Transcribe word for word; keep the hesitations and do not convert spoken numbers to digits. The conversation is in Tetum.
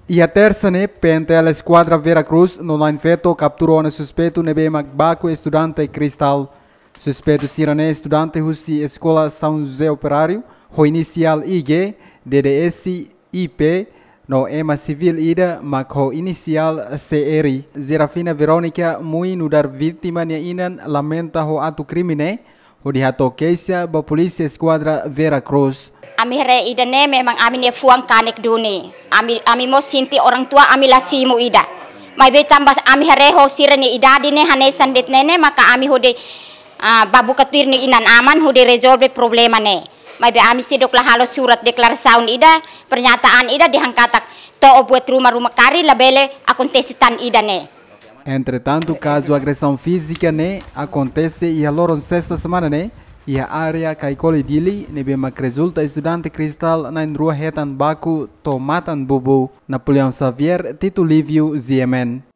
Iha tersa ne'e, P N T L Eskuadra Vera Cruz no na'in-feto kaptura ona suspeitu ne'ebé mak baku estudante Cristal. Suspeitu sira-ne'e estudante husi Eskola São José Operário, ho inisiál I G, D D S I P, no ema sivíl ida mak ho inisiál C R. Zerafina Verónica Mui nu'udar vítima nia inan lamenta ho atu krime ne'e, hodi hato'o keixa ba Polísia Eskuadra Vera Cruz. Ami haree ida-ne'e memang ami-nia fuan kanek duni. Ami, ami mós sente orang tua ami la simu ida. Maibé tanba ami haree ho sira-nia idade ne'e hanesan de'it ne'e ne'e maka ami hodi, ah, bá buka tuir nia inan-aman hodi rezolve problema ne'e. Maibé ami seidauk la halo surat deklarasaun ida, pernyataan ida dehan katak to'o buat ruma-ruma karik labele akontese tan ida-ne'e. Entretantu, kazu agresaun fízika ne'e akontese iha loron sesta semana ne'e, iha área Caicoli Dili, ne'ebé mak rezulta estudante Cristal na'in-rua hetan baku to'o matan bubu. Napoleão Xavier, Tito Lívio, G M N.